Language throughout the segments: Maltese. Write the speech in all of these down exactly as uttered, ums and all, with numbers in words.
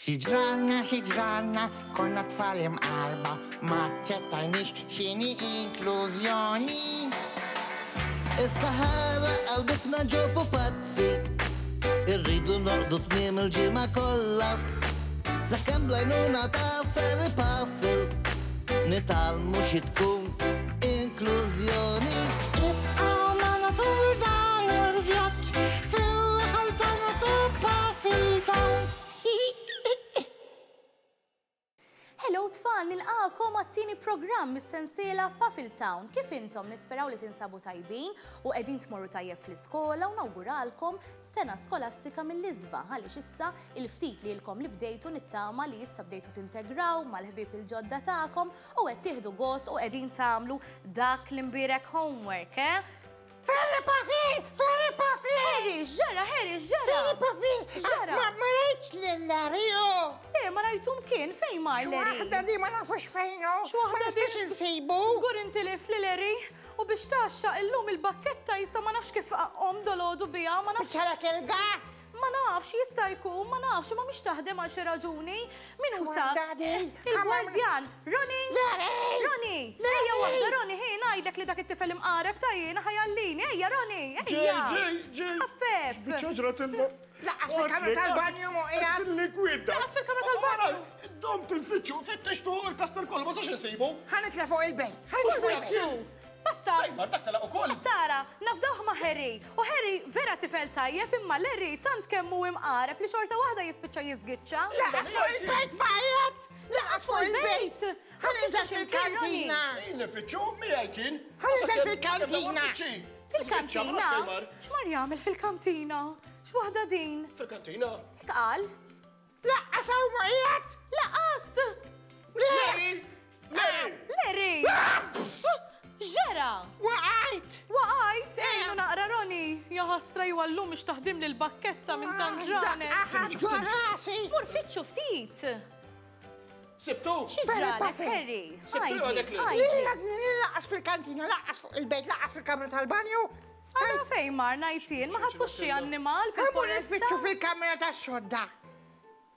Xi ġralna, xi ġralna, konna tfal imqarba, ma aċċettajniex x'inhi inklużjoni. Is-Sahara qalbitna ġo pupazzi, irridu norqdu tmiem il-ġimgħa kollha. Sakemm bl-għajnuna ta' Ferry Puffle, nitgħallmu xi tkun inklużjoni. Ibqgħu magħna tul dan il-vjaġġ fil-raħal tagħna ta' Puffle Town. Hello tfal, nilqakom għat-tieni programm mis-sensiela Puffle Town. Kif intom nisperaw li tinsabu tajbin u qegħdin tmorru tajjeb fl-iskola u nawguralkom sena skolastika mill-isbaħ għaliex issa il-ftit li lkom li bdejtu nittama li issa bdejtu tintegraw mal-ħbieb il-ġodda tagħkom u qed tieħdu gost u qegħdin tagħmlu dak l-imbierek homework, eh? Ferry Puffle! Ferry Puffle! Harry, x'ġara, Harry, x'ġara! Ferry Puffle! X'ġara? Ma ma rajtx lil Larry, oh! Le, ma rajtum kien, fejn mar Larry? Waħda di ma nafux fejn hu. X'waħda Ma nistax di? insibu. Żgur intilef li Larry u biex taxxa illum il-bakketta jista' ma nafx kif qom dolodu biha, ma nafx Spiċċalek il-gas. Ma nafx, jista' jkun, ma nafx, ma mhix taħdem għal xi raġuni. Minuta. X'waħda di? Il-gwardjan, Ronnie! Larry! Ronnie! Larry! Ejja waħda, Ronnie, ħi ngħidlek li dak it-tifel imqareb ta' jiena ħajallini. Ejja, Ronnie, ejja! Ġej, ġej, Ħaffef! Biċċa ġratilna. Lanqas fil-kamra tal-banju mhu qiegħed. Likwida. Lanqas fil-kamra tal-banju. Dom tinfittxu, fittixtu il-kastel kollu, ma sax insibu. Ħa nitla' fuq il-bejt. Ħa nitla' fuq il-bejt. Basta! Mar dak telaq ukoll. Tara, nafdawh ma' Harry. U Harry vera tifel tajjeb imma Larry tant kemm hu imqareb li xorta waħda jispiċċa jiżgiċċa. Lanqas fuq il-bejt ma qiegħed. Lanqas fuq il-bejt. Ħa ninżel fil-kantina. Jien nifittxu, miegħi kien. Ħa ninżel fil-kantina. Fil-kantina? X'mar jagħmel fil-kantina? X'waħda din? Fil-kantina. Hekk qal? Lanqas hawn ma qiegħed. Lanqas! Larry! Larry! Larry! X'ġara! Waqajt. Waqajt! Ejnu naqra Ronnie! Ja ħasra jwallu mhux taħdim lil bakketta minn tant ġranet. Aħ, ġo rasi. Mur fittxu ftit! Sibtu! Xi ġralek, Harry? Sibtu għadek li. Għidli. Lanqas fil-kantina, lanqas fuq il-bejt, lanqas fil-kamra tal-banju. Għara fejn mar ngħid ma ħatfux xi annimal Ħa mmur fil-foresta. nfittxu fil-kamra tas-sodda.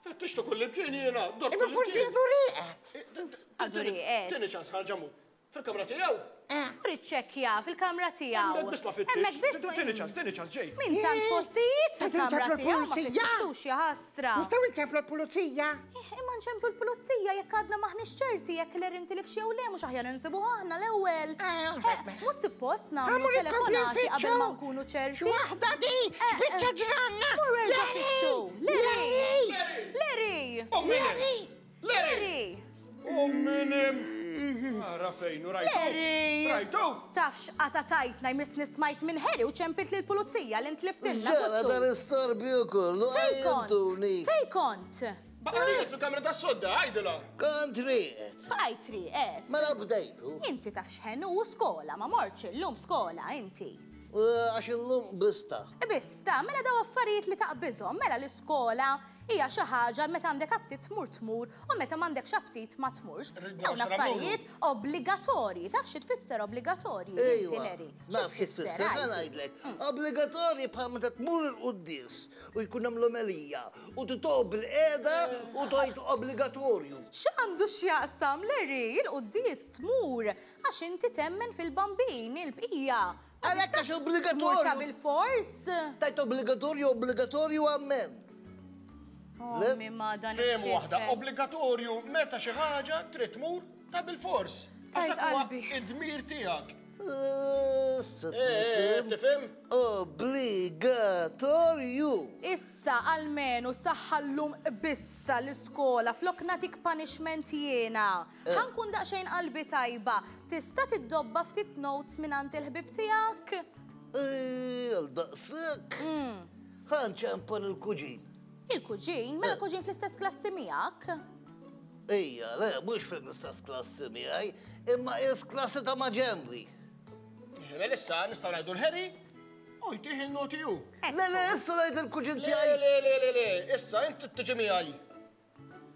Fittixtu kull imkien jiena. dort Imma kull forsi imkien. għadu rieqed. Għadu rieqed. Tieni ċans ħarġamu. Fil-kamra tiegħu. Eh. Mur iċċekkja fil-kamra tiegħu. Hemmhekk biss ma fittix. Hemmhekk biss ma- Tieni ċans, tieni ċans ġej. Min tant postijiet Qed fil-kamra inċemplu tiegħu ma l-pulizija. fittixtux ja ħasra. Nistgħu nċemplu l-pulizija. Eh, Imma nċemplu l-pulizija jekk għadna maħniex ċerti jekk Larry intilifx jew le mhux aħjar insibuh aħna l-ewwel. Eh, Eh, mela. Mhux suppost nagħmlu Ħa mmur telefonati qabel ma nkunu ċerti. X'waħda di? Eh, Biċċa ġranna. Mur erġa' fittxu. Larry! Larry! Larry! Larry! Larry! U minim. Ara fejn, u rajtu. Larry! Rajtu! Tafx għata tajtna jmissni smajt minn Harry u ċempilt lill-pulizija li ntliftilna. Ġara Guttu. dal-istorbju kollu, Fej kont? għajjentuni. Fej kont? Baqa' rieqed fil-kamra tas-sodda, għajdilha. Kont rieqed. Bqajt rieqed. Mela bdejtu. Inti taf x'ħenu u skola, ma mortx illum skola inti. Għax illum bista. Bista, mela daw affarijiet li taqbiżhom, mela l-iskola hija xi ħaġa meta għandek aptit tmur tmur u meta m'għandekx aptit ma tmurx. Rridna Dawn nxrabu. affarijiet obbligatorji, taf xi tfisser obbligatorji inti Ejwa, Larry? Xi naf xi tfisser, ħa għidli? ngħidlek. Obbligatorji bħal meta tmur il-quddies u jkun hemm l-omelija u titob bil-qiegħda u tgħid obbligatorju. X'għandu x'jaqsam Larry, il-quddies tmur għax inti temmen fil-bambin il-bqija. Ma Għalhekk għax tistax obbligatorju. Tmur ta' bil-fors. Tajt obbligatorju, obbligatorju amen. Ommi ma dan Fehmu waħda, it-tifel. obbligatorju meta xi ħaġa trid tmur ta' bil-fors. Għax Tajt dak huwa qalbi. id-dmir tiegħek. Issa Eh, eh, tifhem. tifhem? Obbligatorju. Issa almenu saħħallum bista l-iskola flok nagħtik punishment jiena. Eh. Ħa nkun daqsxejn qalbi tajba. Tista' tiddobba ftit notes minn il-ħbib tiegħek? Eh, Għal daqshekk. Ħa nċempel il-kuġin. Il-kuġin, mela kuġin fl-istess klassi miegħek? Ejja, le, mhux fl-istess klassi miegħi, imma is klassi ta' maġenbi. Mela issa nistgħu ngħidu l-Harry u jtih il-noti hu. Le, le, issa ngħid il-kuġin Le, tiegħi. le, le, le, le, issa inti tiġi miegħi.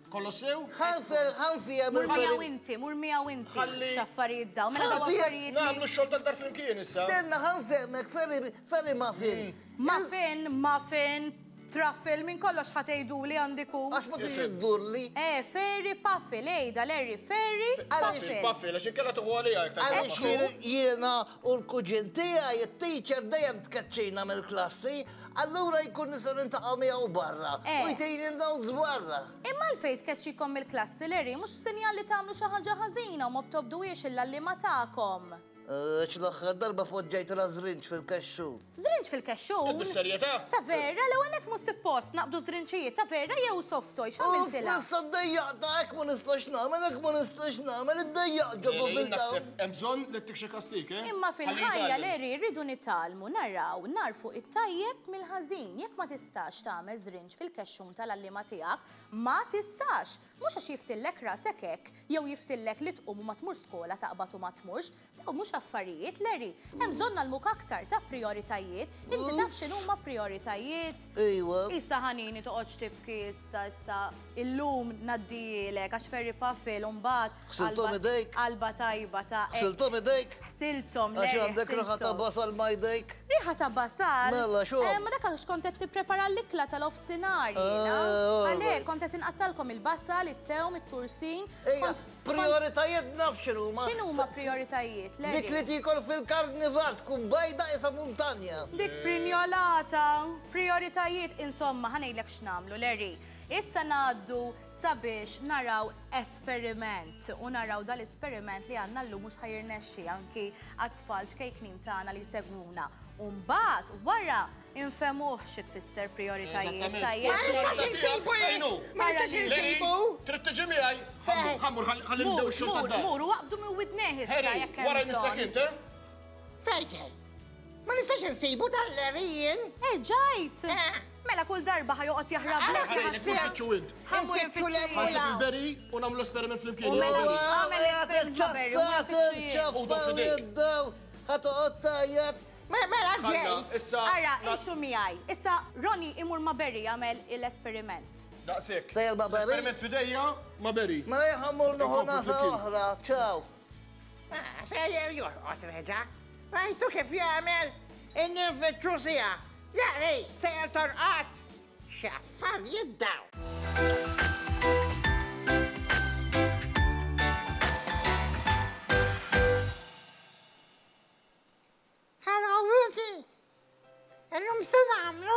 Kollox sew? Ħanfijem Mur miegħu inti, mur miegħu inti. Ħalli- X'affarijiet daw, mela daw Ħalli- affarijiet li. Nagħmlu x-xogħol tad-dar flimkien issa. Stenna, ħanfehmek, ferri, ferri muffin. Muffin, muffin, Truffle, minn kollox ħa tgħiduli għandiku. Għax ma tix iddurli. Eh, Ferry Puffle, ejda Larry, Ferry Puffle. Puffle, għax inkella tuħu għalija jekk Għaliex jiena u l-kuġin tiegħi it-teacher dejjem tkeċċina mill-klassi, allura jkun nisir niltaqgħu miegħu barra. U jtejni notes barra. Imma l-fejn tkeċċikom mill-klassi, Larry, mhux sinjal li tagħmlu xi ħaġa ħażina u ma btobduhiex il-għalliema tagħkom. L-aħħar darba poġġejt la żrinġ fil-kexxun. Żrinġ fil-kexxun? Bis-serjetà? Ta' vera, l-ewwel nett mhux suppost naqbdu żrinċijiet, ta' vera jew soft toy, x'għamiltilha? Issa ddejjaqta hekk ma nistax nagħmel, hekk ma nistax nagħmel, iddejjaq ġo fil-taw. Hemm bżonn li ttik xi kastik, eh? Imma fil-ħajja Larry rridu nitgħallmu naraw narfu it-tajjeb mill-ħażin. Jekk ma tistax tagħmel żrinġ fil-kexxun tal-għalliema tiegħek, ma tistax. Mhux għax jiftillek rasek hekk, jew jiftillek li tqum u ma tmurx skola taqbad u ma tmurx, daw mhux affarijiet, Larry. Hemm bżonn nagħlmuk aktar ta' prioritajiet. Inti taf x'inhuma prioritajiet? Ejwa. Issa ħanini toqgħodx tibki issa issa illum ngħaddielek għax Ferry Puffle u mbagħad Ħsilthom idejk. Qalba tajba ta' Ħsilthom idejk. Ħsilthom, Għax Larry. għandek riħa ta' basal ma' jdejk. Riħa ta' basal? Mela, xogħol. Ma dak għax kont qed tipprepara l-ikla tal-ofsinhar jiena. Għalhekk kont qed inqattalkom il-basal, it-tewm, it-tursin. Ejja, prioritajiet naf x'inhuma. X'inhuma prioritajiet, Larry? Dik li tikol fil-karnival tkun bajda isa muntanja. Dik prinjolata, prioritajiet, insomma, ħa ngħidlek x'nagħmlu, Larry. Issa ngħaddu sabiex naraw esperiment u naraw dal-esperiment li għandna llum mhux ħa jirnexxi anki għat-tfal ċkejknin tagħna li jsegwuna. U mbagħad wara infemuh xi tfisser prioritajiet tajjeb. Ma nistax insibu jien! Ma nistax insibu! Trid tiġi miegħi? Ħammur ħalli nibdew ix-xogħol tad-dar. Mur, mur, waqbdu minn widnejh issa jekk hemm. Wara jmissek int, eh? Fejn? Ma nistax insibu tal-Larry jien. Eh, ġajt! Mela kull darba ħa joqgħod jaħrablek. Nfittxu int. Ħammur Nfittxu nfittxu. Ħasib il-Berry u nagħmlu esperiment flimkien. U mela għamel esperiment ma' Berry u nfittxu. Ħa toqgħod tgħajjat. Mela ġejt. Issa. Ara, imxu miegħi. Issa Ronnie imur ma' Berry jagħmel l-esperiment. Daqshekk. Sejjer ma' Berry? Esperiment f'idejja ma' Berry. Mela ħammur nieħu nasa oħra. Ciao. Sejjer jorqod reġa'. Rajtu kif jagħmel in-nfittxu siegħa. Larry, sejjer torqod. X'affarijiet daw. Hello, Rudy. Illum se nagħmlu?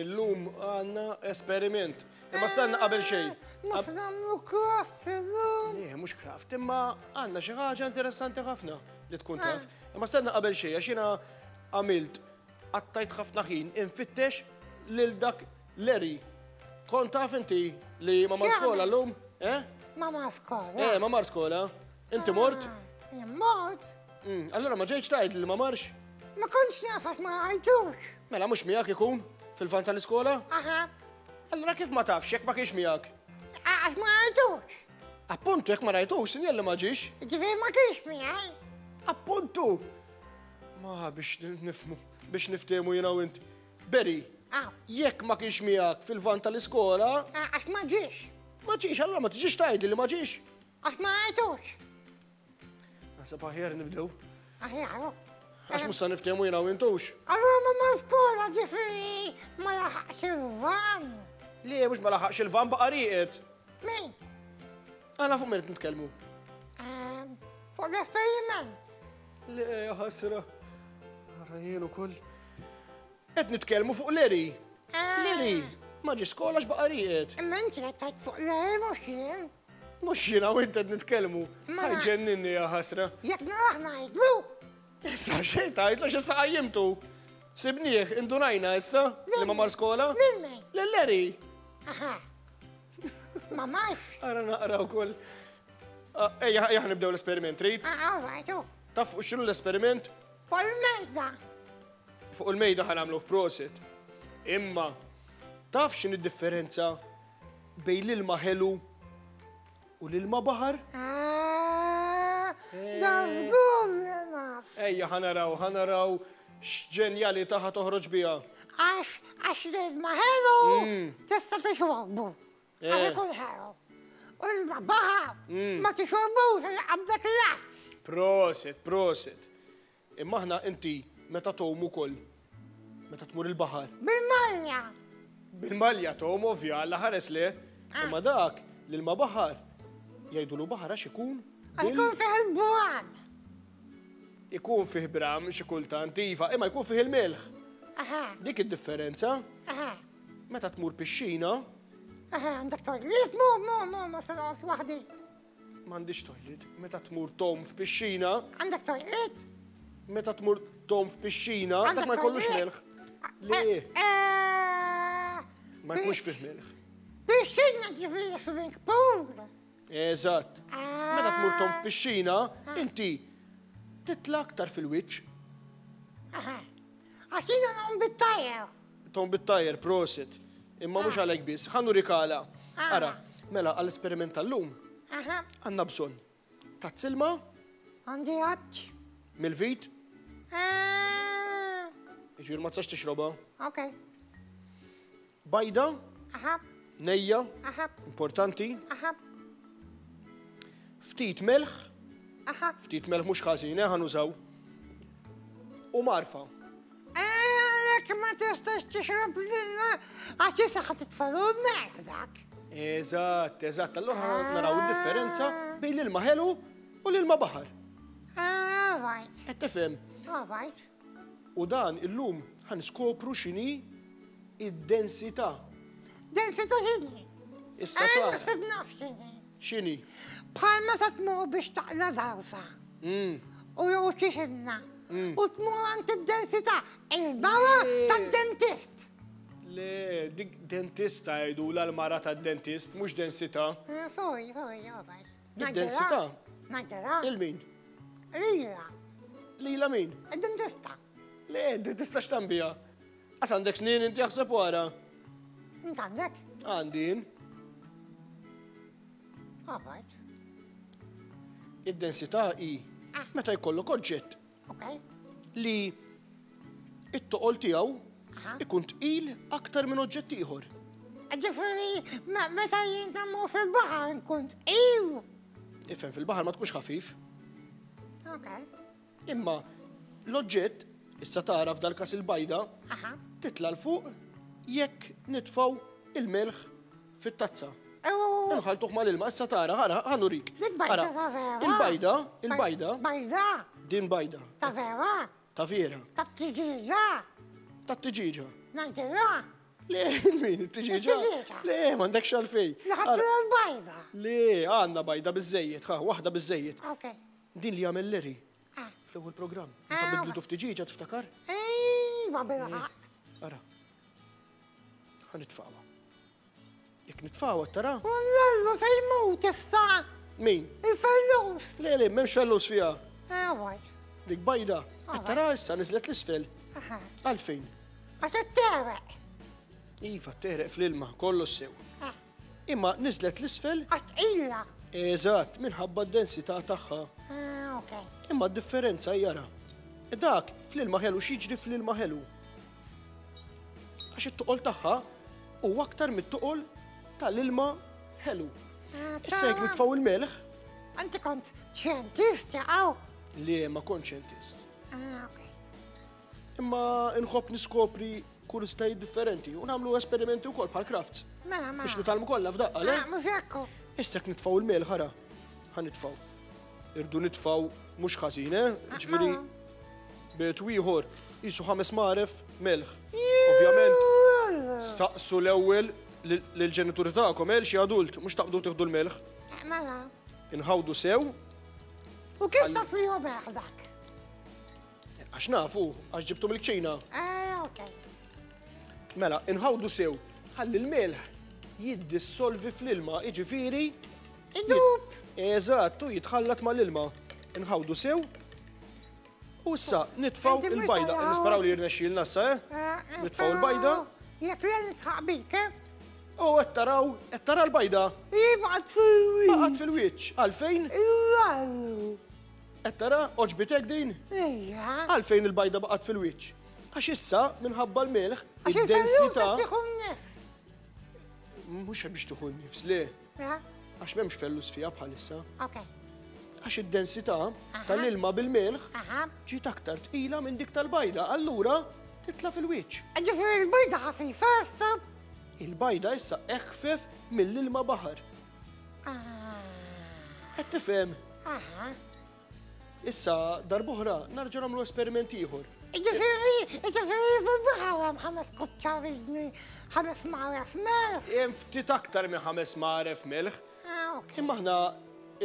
Illum għandna esperiment. Imma stenna qabel xejn. Mhux nagħmlu craft illum. Le, mhux craft, imma għandna xi ħaġa interessanti ħafna li tkun taf. Imma stenna qabel xejn għax jiena għamilt qattajt ħafna ħin infittex lil dak Larry. Kont taf inti li ma mar skola llum? Eh? Ma mar skola. Eh, ma mar skola. Inti mort? Jien mort. Allura ma ġejtx tgħid li ma marx? Ma kontx naf għax ma rajtux. Mela mhux miegħek ikun fil-van tal-iskola? Aha. Allura kif ma tafx jekk ma kienx miegħek? Għax ma rajtux. Appuntu jekk ma rajtux, sinjal li ma ġiex. Ġifieri ma kienx miegħi. Appuntu! Ma biex nifhmu, biex niftehmu jiena u int. Berry, jekk ma kienx miegħek fil-van tal-iskola. Għax ma ġiex. Ma ġiex, allura ma tiġix tgħidli li ma ġiex. Għax ma rajtux. Naħseb aħjar nibdew. Aħjar. Għax mhux se niftehmu jiena u intux. Allura ma mar skola ġifieri ma laħaqx il-van. Le, mhux ma laħaqx il-van baqa' rieqed. Min? Għana fuq min qed nitkellmu. Fuq l-esperiment. Le, ħasra. Ara jien ukoll. Qed nitkellmu fuq Larry. Larry, ma ġie skola x'baqa' rieqed. Imma inti qed tgħid fuq Larry mhux jien. Mhux jiena u int qed nitkellmu. Ħajġenninni ja ħasra. Jekk naraħ ngħidlu. Issa xejn tgħidlu x'issa qajjimtu. Sibnieh, indunajna issa li ma mar skola? Lil min? Lil Larry. Aha. Ma marx. Ara naqra wkoll. Ejja, ejja nibdew l-esperiment, trid? All right. Taf fuq x'inhu l-esperiment? Fuq il-mejda. Fuq il-mejda ħa nagħmluh prosit. Imma taf x'inhi d-differenza bejn l-ilma ħelu u l-ilma baħar? Da żgur li naf. Ejja ħa naraw, ħa naraw x'ġenjalità ħa toħroġ biha. Għax għax l-ilma ħelu tista' tixorbu. Għax ikun ħelu. U l-ilma baħar ma tixorbux għax qabdek l-għads. Prosit, prosit. Imma aħna inti meta tgħum ukoll, meta tmur il-baħar. Bil-malja. Bil-malja tom ovvja, alla ħares le. Imma dak l-ilma baħar jgħidulu baħar għax ikun. Għax ikun fih il-bram. Ikun fih bram xi kultant, iva, imma jkun fih il-melħ. Dik id-differenza. Meta tmur pixxina. Għandek toilet? Mu, mu, mu, ma se noqgħod waħdi. M'għandix toilet. Meta tmur tom f'pixxina. Għandek toilet? Meta tmur tom f'pixxina, dak ma jkollux melħ. Le. Ma jkunx fih melħ. Pixxina ġifieri swimming pool. Eżatt. Meta tmur tom f'pixxina, inti titla' aktar fil-wiċċ. Għax jiena ngħum bit-tajer. Tom bit-tajer, prosit. Imma mhux għalhekk biss, ħa nurik għala. Ara, mela għall-esperiment tal-lum. Għandna bżonn tazz ilma. Għandi għadġ. Mill-vit. Iġifieri ma tistax tixrobha. Ok. Bajda. Nejja. Importanti. Ftit melħ. Ftit melħ mhux ħażin, ħa nużaw. U marfa. Għalhekk ma tistax tixrob l-ilma għax issa ħa titfalu l-melħ dak. Eżatt, eżatt. Allura naraw id-differenza bejn l-ilma ħelu u l-ilma baħar. All right. Qed tifhem? All right. U dan illum ħa niskopru x'inhi id-densità. Densità x'inhi? Issa tara. Naħseb naf x'inhi. X'inhi? Bħal meta tmur biex taqla dawsa. U jew xi xinna. U tmur għand id-densità, il-mara tad-dentist. Le, dik dentista jgħidulha l-mara tad-dentist, mhux densità. Sorry, sorry, all right. Id-densità? Ngħidilha. Il-min? Lila. Lila min? Id-dentista. Le, id-dentista x'tambija? Għas għandek snin inti jaħseb wara. Int għandek? Għandi jien. All right. Id-densità hi meta jkollok oġġett li it-toqol tiegħu ikun tqil aktar minn oġġett ieħor. Ġifieri, meta jien tagħmlu fil-baħar nkun tqil. Ifhem, fil-baħar ma tkunx ħafif. Ok. Imma l-oġġett, issa tara f'dal-każ il-bajda, titla' l fuq jekk nitfgħu il-melħ fit-tazza. Nħaltuh mal-ilma, issa tara, ħara, ħa nurik. Il-bajda ta' vera. Il-bajda, il-bajda. Bajda. Din bajda. Ta' vera. Ta' vera. Ta' tiġiġa. Ta' tiġiġa. Ngħidilha. Le, min, it-tiġiġa? Le, m'għandekx għalfejn. Li l-bajda. Le, għandna bajda biżżejjed, ħa, waħda biżżejjed. Ok. Din li għamel Larry. Fl-ewwel programm. Meta bidlitu f'tiġiġa tiftakar? Ejwa, bil-ħaqq. Ara. Ħa nitfgħuha. Jekk nitfgħuha tara? Wallallu se jmut issa. Min? Il-fellus. Le, le, m'hemmx fellus fiha. Ewwa. Dik bajda. Qed tara issa niżlet l-isfel. Għalfejn? Għax tereq. Iva, tereq fl-ilma, kollu sew. Imma niżlet l-isfel. Għax tqila. Eżatt, minħabba d-densità tagħha. Ok. Imma d-differenza jara. Dak fl-ilma ħelu x'jiġri fl-ilma ħelu. Għax it-toqol tagħha huwa aktar mit-toqol tal-ilma ħelu. Issa jekk nitfgħu il-melħ. Inti kont xjentist għaw? Le, ma kontx xjentist. Ok. Imma nħobb niskopri kurżitajiet differenti u nagħmlu esperimenti wkoll bħal crafts. Mela, mela. Biex nitgħallmu kollha f'daqqa, le? Mhux hekk. Issa jekk nitfgħu il-melħ ħara. Ħa nitfgħu. Irdu nitfgħu mhux ħażin, eh? Ġifieri bejt ieħor qisu ħames maref melħ. Ovvjament, staqsu l-ewwel lill-ġenituri tagħkom, eh, xi adult, mhux taqbdu tieħdu l-melħ. Mela. Inħawdu sew. U kif taf li hu melħ dak? Għax nafu, għax ġibtu mill-kċina. Eh, ok. Mela, inħawdu sew, ħalli l-melħ jiddissolvi fl-ilma, jiġifieri Idub. Eżatt, u jitħallat mal-ilma. Inħawdu sew. U issa nitfgħu il-bajda. Nisperaw li jirnexxielna issa, eh? Nitfgħu il-bajda. Jekk le nitħaq bik, eh? U qed taraw, qed tara l-bajda. Baqgħet fil-wiċċ. Baqgħet fil-wiċċ. Għalfejn? Qed tara, oġbitek din? Ejja. Għalfejn il-bajda baqgħet fil-wiċċ? Għax issa minħabba l-melħ, id-densità. Għax tieħu n-nifs. Mhux biex tieħu n-nifs, le. Għax m'hemmx fellus fiha bħalissa. Ok. Għax id-densità tal-ilma bil-melħ ġiet aktar tqila minn dik tal-bajda, allura titla' fil-wiċċ. Ġifieri l-bajda ħafifa issa? Il-bajda issa eħfef mill-ilma baħar. Qed tifhem? Issa darb'oħra nerġa' nagħmlu esperiment ieħor. Ġifieri, ġifieri fil-baħar hemm ħames kuċċarini, ħames mgħaref melħ. Hemm ftit aktar minn ħames mgħaref melħ. Imma aħna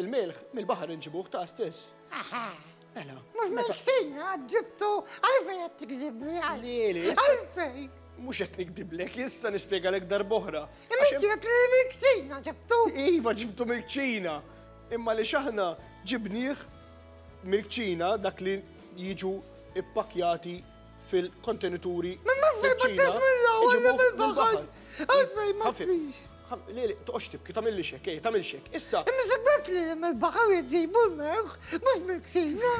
il-melħ mill-baħar inġibuh ta' stess. Aha. Mela. Mhux mill-kċina ġibtu għalfejn qed tikdibli għal. Għalfejn. Mhux qed nikdiblek, issa nispjegalek darb'oħra. Imma qed li mill-kċina ġibtu. Iva ġibtu mill-kċina. Imma li x'aħna ġibnieh mill-kċina dak li jiġu ippakjati fil-kontenituri. Ma fil-kċina. Mill-ewwel mill-baħar. Għalfejn ma tfix. Le, le, toqgħodx tibki, tagħmilli hekk, ej, tagħmilx hekk. Issa. Imma sabek li mill-baħar jġibu l-melħ, mhux mill-kċina.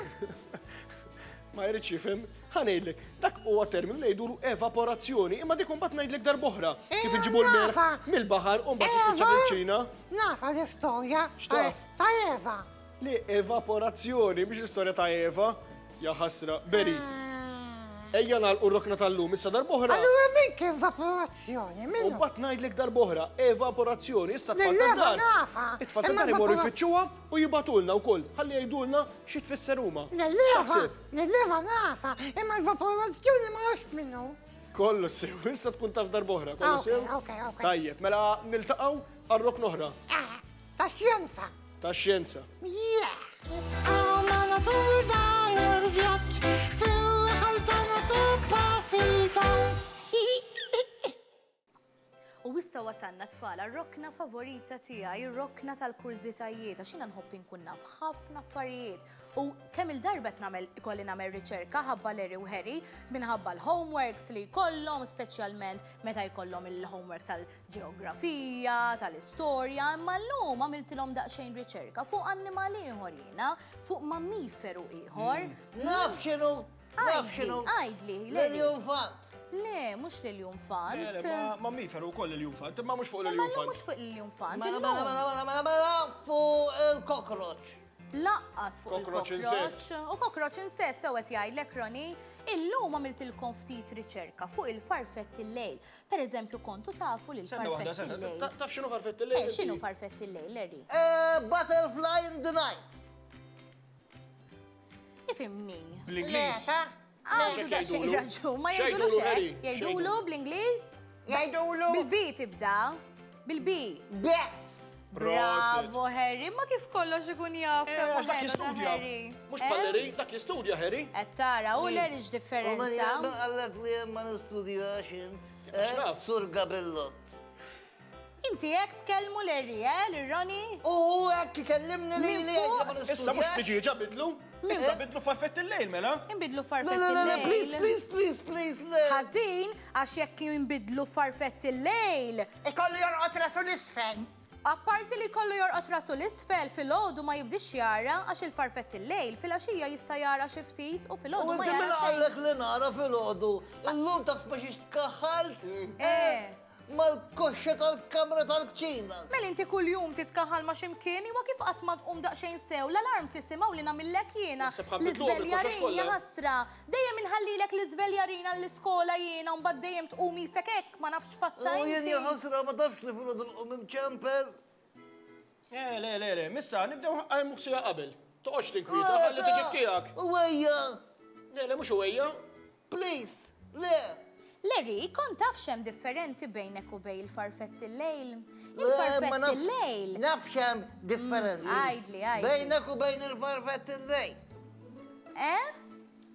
Ma jridx jifhem, ħa ngħidlek, dak huwa terminu li jgħidulu evaporazzjoni, imma dik imbagħad ngħidlek darb'oħra. Kif inġibu l-melħ mill-baħar u mbagħad jispiċċa fil-kċina. Nafa l-istorja. X'taf? Ta' Eva. Le, evaporazzjoni, mhix l-istorja ta' Eva. Ja ħasra, Beri. Ejja nagħlqu r-rokna tal-lum, issa darb'oħra. Allura min kien evaporazzjoni? U mbagħad ngħidlek darb'oħra, evaporazzjoni, issa tfal tad-dar. Nafa. It-tfal tad-dar imorru jfittxuha u jibgħatulna wkoll, ħalli jgħidulna xi tfisser huma. L-leva, l-leva nafa, imma l-evaporazzjoni ma nafx minnu. Kollu sew, issa tkun taf darb'oħra, kollu sew. Ok, ok. Tajjeb, mela niltaqgħu għar-rokna oħra. Ta' xjenza. Ta' xjenza. Yeah. Għamana tul dan il-vjaġġ fil-ħal tagħna Puffletown. U issa wasalna tfal għar-rokna favorita tiegħi, ir-rokna tal-kurżitajiet, għax jiena nħobb inkun naf ħafna affarijiet. U kemm il-darba qed nagħmel ikolli nagħmel riċerka ħabba Larry u Harry minħabba l-homeworks li jkollhom, speċjalment meta jkollhom il-homework tal-ġeografija, tal-istorja, imma llum għamiltilhom daqsxejn riċerka fuq annimal ieħor jiena, fuq mammiferu ieħor. Naf x'inhu, naf x'inhu. Għidli, Larry. L-iljunfant. Le, mhux l-iljunfant. Mammiferu wkoll l-iljunfant, imma mhux fuq Imma l-iljunfant. mhux fuq l-iljunfant. Mela, mela, mela, mela, mela, mela, fuq il-kokroċ. Laqqas fuq Cockroach il-kokroċ. U cockroach insett sew qed jgħidlek Roni, illum għamiltilkom ftit riċerka fuq il-farfett il-lejl. Per eżempju, kontu tafu li Senna waħda, l-farfett senna, il-lejl. taf x'inhu farfett il-lejl? Eh, x'inhu farfett il-lejl, Larry? Butterfly in the night. Ifimni. Bl-Ingliż. Għandu daqsxejn raġun, ma jgħidulu xek. Jgħidulu bl-Ingliż? Jgħidulu. Bil-B tibda. Bil-B. Bet. Bravo, Harry. Ma kif kollox ikun jaf. Għax dak jistudja. Mhux bħal Larry, dak jistudja, Harry. Qed tara, u Larry x'differenza. U għallek li ma nistudjax int. X'naf? Sur Gabellot. Inti hekk tkellmu Larry, eh, lil Ronnie? U hekk ikellimni lili Issa mhux tiġieġa bidlu. Issa bidlu farfett il-lejl, mela? Inbidlu farfett Le, le, le, please, il-lejl. please, please, please, le. Ħażin, għax jekk jinbidlu farfett il-lejl. Ikollu jorqod rasu l-isfel. Apparti li kollu jorqod rasu l-isfel, filgħodu ma jibdix jara għax il-farfett il-lejl filgħaxija jista' jara xi ftit u U filgħodu ma inti jara mela xejn. għallek li nara filgħodu. Illum taf ma xiex tkaħħalt Eh. mal-koxxa tal-kamra tal-kċina. Mela inti kuljum titkaħħal ma' x'imkien iwa kif qatt ma tqum daqsxejn sew l-alarm tisimgħu li nagħmillek jiena. Naħseb ħabbitluhom il-koxxa L-iżveljarin xkollha. ja ħasra. Dejjem inħallilek l-iżveljarin għall-iskola jiena u mbagħad dejjem tqum isek hekk ma nafx fatta U jien inti. ja ħasra ma tafx li filgħodu nqum imċempel. Le, le, le, le, missa nibdew għajmu sija qabel. Toqgħodx tinkwieta, ħalli tiġi f'tiegħek. U ejja, Le, le, mhux ejja. please, le. Larry, kont taf x'hemm differenti bejnek u bejn il-farfett il-lejl? Le, ma Il-farfett naf- il-lejl. Naf x'hemm differenti. Għidli, għidli. Bejnek u bejn il-farfett il-lejl. Eh?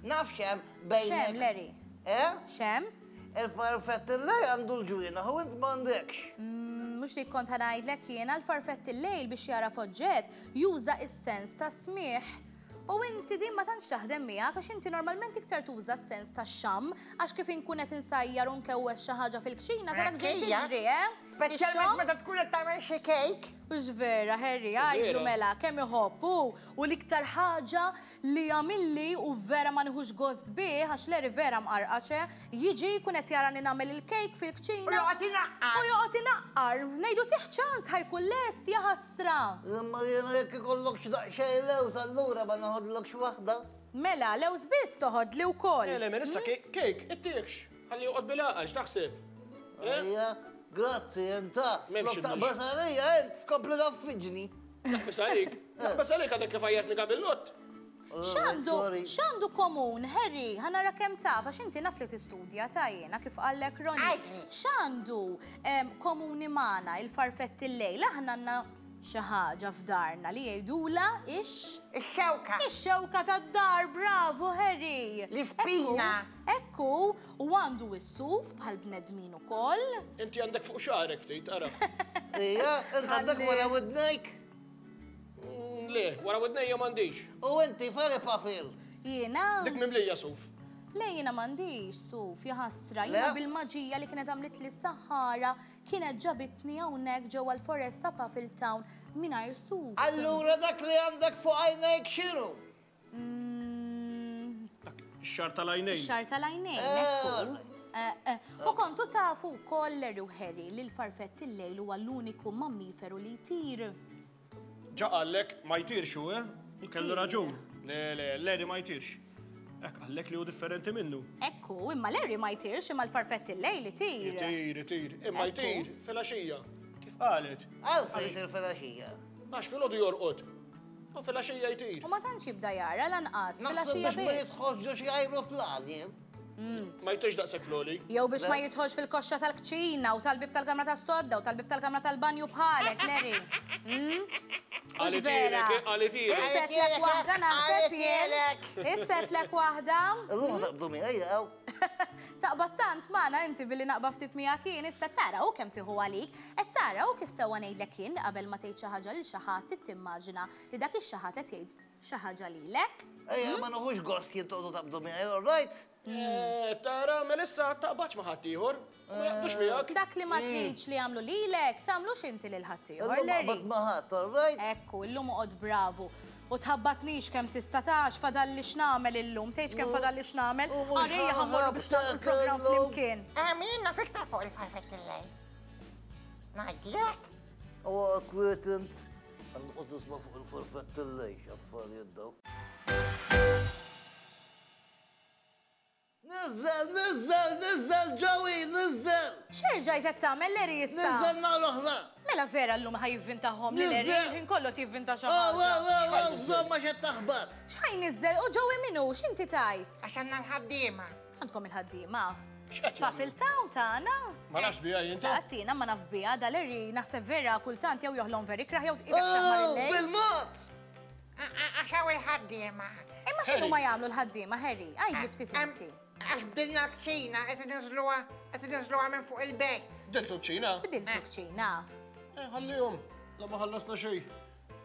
Naf x'hemm bejnek. X'hemm, Larry? Eh? X'hemm? Il-farfett il-lejl għandu l-ġwienaħ u int m'għandekx. Mhux li kont ħa ngħidlek jiena l-farfett il-lejl biex jara oġġett juża is-sens ta' smigħ. U inti din ma tantx taħdem miegħek għax inti normalment iktar tuża s-sens ta' xam għax kif inkun qed insajjar u nkewwex xi ħaġa fil-kċina tarak ġej Kija. tiġri, eh? Speċjalment Ix-xamm? meta tkun qed tagħmel xi kejk. Ux vera, Harry, għajdlu Vera. mela, kemm iħobb u u l-iktar ħaġa li jagħmilli u vera ma nieħux gost bih, għax Larry vera mqarqaxe, jiġi jkun qed jarani nagħmel il-kejk fil-kċina. U joqgħod inaqqar. U joqgħod inaqqar. Ngħidu tih ċans ħajkun lest ja ħasra. Imma jiena jekk ikollok x'daqsxejn lews allura ma noħodlokx waħda. Mela, lews biss toħodli wkoll. Le, le, mela issa kejk, ittiekx. Ħalli joqgħod bil-għaqal, x'taħseb? Eh? Ejja, Grazzi, enta. M'hemmx Taqbas għalija, ent, tkompli taffiġni. Naqbes għalik. Naqbes għalik għadek kif għajjatni gabillot. X'għandu, Sorry. x'għandu komun, Harry, ħa nara kemm taf, għax inti naf li tistudja ta' jiena kif qallek Ronnie. Għidli. X'għandu em, komuni magħna il-farfett il-lejl, aħna għandna xi ħaġa f'darna li jgħidula ix Ix-xewka. Ix-xewka tad-dar, bravo Harry! L-ispina. Ekku, u għandu s-suf bħal bnedmin ukoll. Inti għandek fuq xagħrek ftit, ara. Ija, int għandek wara widnejk. Mm, Le, wara widnejja m'għandix. U inti Ferry Puffle. Jiena, Dik mimlija suf. le jiena m'għandix suf, jaħasra, jiena Le? bil-maġija li kienet għamlet li s-saħħara kienet ġabitni hawnhekk ġewwa l-foresta Puffle Town mingħajr suf. Allura dak li għandek fuq għajnejk x'inhu? Mm, Dak ix-xagħar tal-għajnejn. Ix-xagħar tal-għajnejn, Eh, ekku. alright. Eh, eh. U kontu tafu wkoll Larry u Harry li l-farfett il-lejl huwa l-uniku mammiferu li jtir. Ġa qallek ma jtirx hu, eh? Kellu Jtir. raġun. Le, le, Larry ma jtirx. Ek qallek li hu differenti minnu. Ekku, imma Larry ma jtirx, imma l-farfett il-lejl itir. Jtir, jtir. Imma Ekku. jtir fil-għaxija. Kif qalet? Għalfejn jsir fil-għaxija. Għax filgħodu jorqod. U fil-għaxija jtir. U ma tantx jibda jara lanqas, Naħseb fil-għaxija biex ma biss. jidħolx ġo xi ajruplan jien. Ma jtirx daqshekk floli. Jew biex ma jidħolx fil-koxxa tal-kċina u tal-bib tal-kamra tas-sodda u tal-bib tal-kamra tal-banju bħalek, Larry. Mm? Mhux vera. Qalitilek, qalitilek. Issetlek waħda naħseb jien. Issetlek waħda. Illum taqbdu miegħi jew. Taqbad tant magħna inti billi naqba ftit miegħek jien issa tara u kemm tieħu għalik, qed tara u kif sewwa ngħidlek jien li qabel ma tgħid xi ħaġa lil xi ħadd trid timmaġina li dak ix-xi ħadd qed jgħid xi ħaġa lilek. Ejja, ma nħux gost jien toqgħodu taqbdu miegħi, all right? Eh, Tara, Melissa, taqbadx ma' ħaddieħor. Ma jaqbdux miegħek. Dak li ma tridx li jagħmlu lilek, tagħmlux inti lil ħaddieħor, Illum Larry. qbad ma' ħadd, all right? Ekku, illum uqgħod bravu. U tħabbatnix kemm tista' tax fadalli x'nagħmel illum, tgħidx kemm fadalli x'nagħmel. U mhux Għarejja ħa mmorru biex nagħmlu l-programm ħaħabtek illum. flimkien. Għamilna fiktar fuq il-farfett il-lejl. Ngħidlek. U kwiet int. Għanqod nisma' fuq il-farfett il-lejl, x'affarijiet daw. Nizzel, nizzel, nizzel, Joey, nizzel! X'erġajt qed tagħmel Larry issa? Nizzel nhar oħra! Mela vera llum ħa jivvintahom li Larry, Nizzel! il-ħin kollu jivvinta xi Oh, ħaġa. wow, wow, wow, żomma x'qed taħbat! X'ħa jniżżel u Joey min hu, x'inti tajt? Għax għandna l-ħaddiema. Għandkom il-ħaddiema. X'qed jagħmlu? Puffle Town tagħna. Ma nafx biha jien ta' Lanqas jiena ma naf biha da Larry naħseb vera kultant jew joħlom veri kraħ jew tqisek xaħmar Oh, il-lejl. bil-mod! Għax hawn il-ħaddiema. Imma x'inhu Harry. ma jagħmlu l-ħaddiema, Harry? Għidli ftit Em, inti. Għax bdilna kċina, qed inniżluha, qed inniżluha minn fuq il-bejt. Bdiltu kċina? Bdiltu kċina. Eh, ħallihom. La ma ħallasna xejn.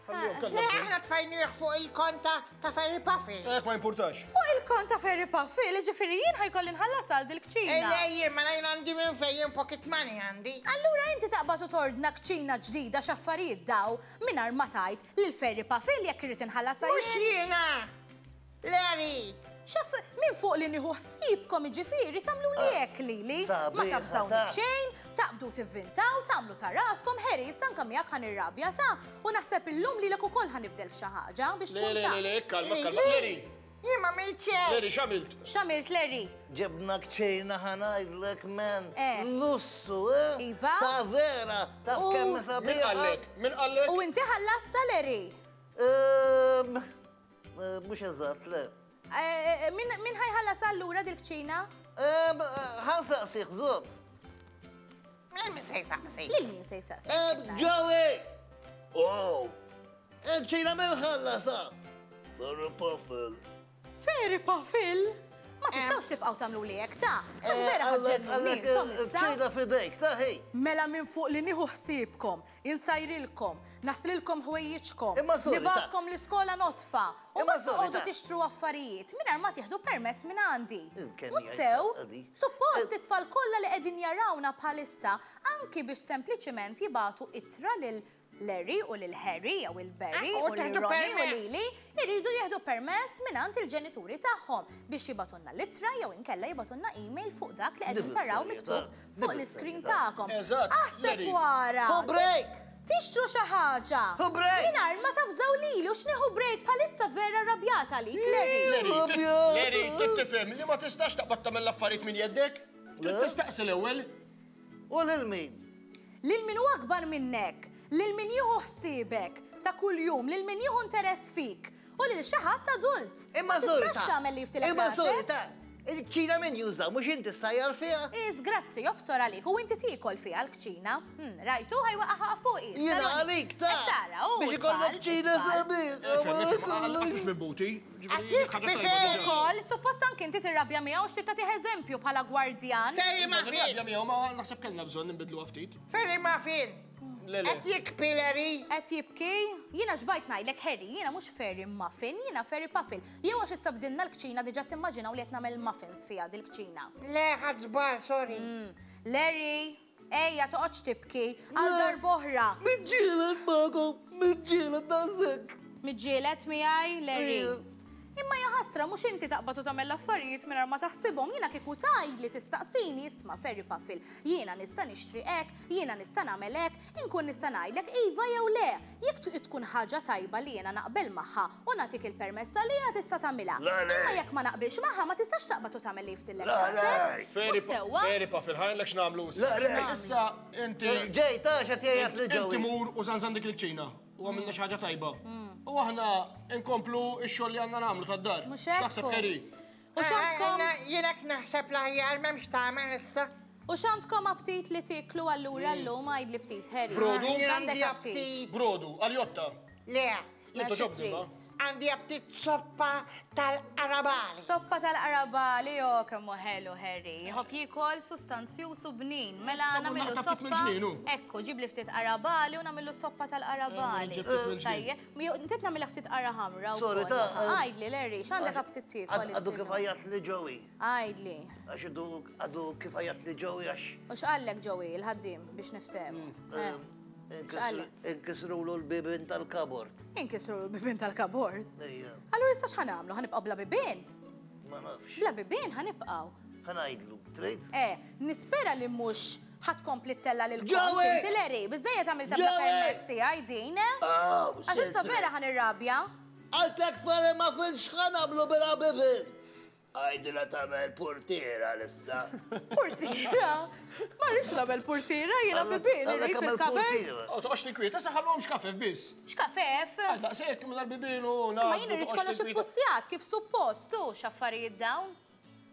Ħallihom kellna Le, bżonn. aħna tfajnieh fuq il-konta ta' Ferry Puffle. Ek ma jimpurtax. Fuq il-kont ta' Ferry Puffle, ġifieri jien ħa jkolli nħallas għal dil-kċina. Ejja, jien, ma jien għandi minn fejn jien pocket money għandi. Allura inti taqbad u tordna kċina ġdida x'affarijiet daw mingħajr ma tajt lil Ferry Puffle jekk irid inħallas Mhux jien. jiena! Larry! Xaf, minn fuq li nieħu ħsiebkom jiġifieri tagħmlu li hekk lili. Ma Sabiħa tafżawni ta' b'xejn, taqbdu tivvintaw, tagħmlu ta' raskom, Harry, issa anke miegħek ħa nirrabja ta' u naħseb illum lilek ukoll ħa nibdel f'xi ħaġa biex Le, tkun le, taf. le, le, kalma, kalma. Larry, Jien ma għamilt xejn. Larry, x'għamilt? X'għamilt Larry? Ġibna kċina ħa ngħidlek men. Eh. Lussu, eh? Iva. Ta' vera, taf U- kemm Min sabiħa. qallek? Min qallek? U inti ħallasta Larry? Ehm, eh, Mhux eżatt, le. Eh, eh, Min min ħa jħallas allura dil-kċina? Ehm, ħa nsaqsih, żomm. Min min se jsaqsi? Lil min se jsaqsi? Ehm, Joey! Oh! Il-kċina min ħallasha? Ferry Puffle. Ferry Puffle? Ma tistgħux tibqgħu tagħmlu li hekk ta' għax vera Għallek, ħa ġġennuni għallek, intom issa. il-kċina fidejk, ta' ħej. Mela minn fuq li nieħu ħsiebkom, insajrilkom, naħsililkom ħwejjiġkom, Imma sorry, ta' nibgħatkom l-iskola notfa, u Imma ma sorry, toqgħodu ta' tixtru affarijiet mingħajr ma tieħdu permess minn għandi. Il-kemm Mhux hija sew, għadi. suppost it-tfal kollha li qegħdin jarawna bħalissa anki biex sempliċiment jibagħtu ittra lil Larry u lil Harry jew il Barry Ah, u u lil tieħdu Ronnie u permess. lili jridu jieħdu permess mingħand il-ġenituri tagħhom biex jibgħatulna l-ittra jew inkella jibgħatulna email fuq dak li qegħdin taraw miktub fuq l-iskrin tagħkom. Eżatt, Aħseb Larry. wara. Hu break! Tixtru xi ħaġa. Hu break! Mingħajr ma tafżaw lili u x'nieħu break bħalissa vera rrabjata għalik, Larry. Larry, tit- Abjad. Larry, trid tifhem li ma tistax taqbad tagħmel l-affarijiet minn jeddek. Trid tistaqsi l-ewwel. U lil min? Lil min hu akbar minnek, lil min jieħu ħsiebek ta' kuljum, lil min jieħu interess fik u lil xi ħadd adult. Imma Ma tistax sorta. tagħmel li jiftilek Imma rasek. sorta. Il-kċina min juża, mhux inti sajjar fiha? Is, grazzi, jobsor għalik, u inti tiekol fiha l-kċina. Hmm, rajtu, ħajwaqaħa fuqi. Jiena għalik ta' Qed tara, u biex ikollok kċina sabiħ. Ifhem, ifhem, għal mhux minn buti. Għatik bifek. Ukoll, suppost anke inti tirrabja miegħu x'trid tagħtih eżempju bħala gwardjan. Ferry Muffin! Nirrabja miegħu ma naħseb kellna bżonn nbidlu ftit. Ferry Muffin! Le, le. Qed jikpi Larry? Qed jibki, jiena xbajt ngħidlek Harry, jiena mhux Ferry Muffin, jiena Ferry Puffin. Jew għax issa bdilna l-kċina diġà timmaġinaw li qed nagħmel muffins fiha dil-kċina. Le, ħadd żball, sorry. Larry, ejja toqgħodx tibki għal darb'oħra. Miġġielet magħkom, miġġielet daqshekk. Miġġielet miegħi, Larry. Ija. Imma ja ħasra mhux inti taqbad u tagħmel l-affarijiet mingħajr ma taħsibhom, jiena kieku tgħidli tistaqsini isma' Ferry Puffin, jiena nista' nixtri hekk, jiena nista' nagħmel hekk, inkun nista' ngħidlek iva jew le. Jekk tu- tkun ħaġa tajba li jiena naqbel magħha u nagħtik il-permess li tista' tagħmilha. Le, le. Imma jekk ma naqbilx magħha ma tistax taqbad u tagħmel li jiftilek Le, le. rasek. Ferry Mhux sewwa? Ferry Puffin, ħajlek x'nagħmlu issa. Le, le. Issa inti Ġej, ta' x'qed jgħid li Inti ġewi. mur u zanzan dik il-kċina u għamilna xi ħaġa tajba. U aħna nkomplu x-xogħol li għandna nagħmlu tad-dar. Mhux hekk Taħseb hu. Harry. U x'għandkom Jiena naħseb l-aħjar m'hemmx tagħmel issa. u x'għandkom aptit li tieklu allura llum għidli ftit Harry. Brodu? Jien X'għandek għandi aptit? aptit. Brodu, għaljotta. Le, Jien Ma xi toġobni ma. trid? għandi aptit soppa tal-qarabali. Soppa tal-qarabali, jo, kemm hu ħelu Harry. Jħobb jiekol sustanzjuż u bnin. Mela Issa nagħmlu naqta' ftit soppa. mill-ġnien, hu. Ekku, ġib li ftit qarabali u nagħmlu soppa tal-qarabali. Eh, ġib ftit mill-ġnien. Tajjeb, mi- inti nagħmilha ftit qara ħamra Sorry, wkoll. ta' eh, Għidli, Larry, x'għandek aptit tiekol? Għadu kif għajjat li ġewi. Għidli. Għax għadu għadu kif għajjat li ġewi għax. U x'qallek Joey, il-ħaddiem biex niftehmu? Eh, X'qallek? Inkisrulu l-bibin tal-kabord. Inkisru l-bibien tal-kabord. Ejja, Allura issa x'ħa nagħmlu? Ħa nibqgħu bla bibien? ma nafx. Bla bibien ħa nibqgħu. Ħa ngħidlu, trid? Eh, nispera li mhux ħa tkompli ttella lil kont Joey! inti Larry, biżejjed għamilta bla Joey! permess tiegħi din, eh? Aw, Għax issa vera ħa nirrabja. Għaltlek Ferry Muffin x'ħa nagħmlu bla bibin. Għajdila tagħmel portiera l-issa. Portiera? Ma rridx nagħmel portiera, jiena bibien irrid fil-kabord. Oh, toqgħodx tinkwieta, issa ħallhom xkafef biss. X'kafef? Għal daqshekk minn bibien u Ma jien irrid kollox ippustjat kif suppost, tu x'affarijiet dawn.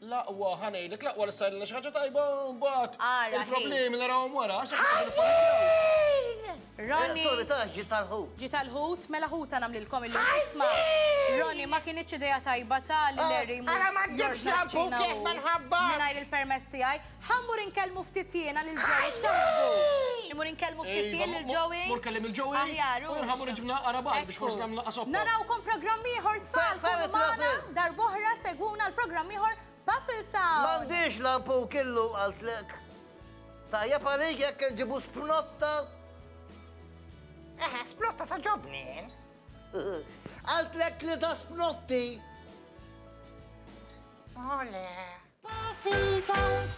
L-aqwa ħa ngħidlek, l-aqwa li sajlna xi ħaġa tajba u mbagħad Ara, il-problemi narawhom wara għax aħna nippanikjaw. Ronnie, Sorry, ta' ġi tal-ħut. ġi tal-ħut, mela ħuta nagħmlilkom illum isma'. Ronnie, ma kienitx idea tajba ta' li Larry mur Ara ma ġibx jorġna lampu l-kċina kif u ma nħabbax. Mingħajr il-permess tiegħi. Ħa mmur inkellmu ftit jiena lil Joey, x'taħsbu? Immur inkellmu ftit Iva, jien lil Joey. Mur kellem il-Joey. Aħjar, U jien ħa mmur nġibna qarabal biex forsi nagħmlu naqas soppa. Narawkom programm ieħor tfal, Fe- kunu fe- magħna fe- darb'oħra segwuna l-programm ieħor Puffle Town. M'għandix lampu kellu għaltlek. Tajjeb għalik jekk nġibu spnotta. Eh, splotta ta' ġobni. Għaltlek li ta' spnotti. Ole. Puffle Town.